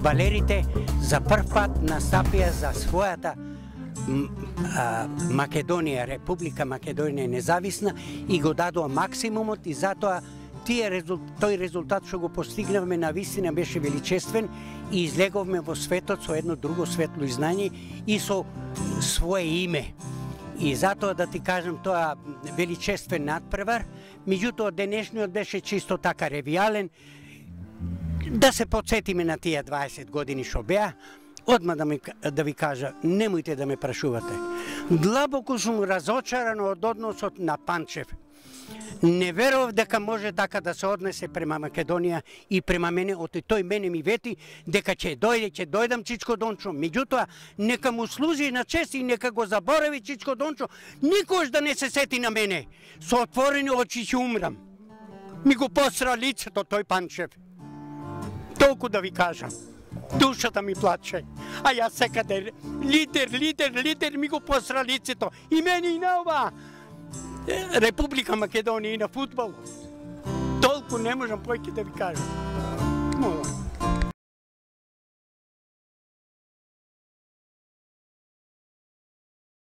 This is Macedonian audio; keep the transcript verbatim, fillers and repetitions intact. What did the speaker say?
фудбалерите за прв пат настапија за својата Македонија, Република Македонија независна и го дадоа максимумот и затоа тие тој резултат што го постигнавме на вистина беше величествен и излеговме во светот со едно друго светло изнање и со свое име. И затоа да ти кажам тоа величествен надпревар, меѓутоа денешниот беше чисто така ревијален, да се потсетиме на тие дваесет години што беа. Одма да, ми, да ви кажа, немојте да ме прашувате. Длабоко сум разочаран од односот на Панчев. Не верував дека може така да се однесе према Македонија и према мене, оти тој мене ми вети дека ќе дојде, ќе дојдам Чичко Дончо. Меѓутоа, нека му служи на чест и нека го заборави Чичко Дончо, никош да не се сети на мене. Со отворени очи ќе умрам. Ми го посра лицето тој Панчев. Толку да ви кажам. Душата ми плаче. А јас секаде лидер, лидер, лидер ми го посра лицето. И мене и на ова Република Македонија и на фудбал. Толку не можам појќе да ви кажам. Молам.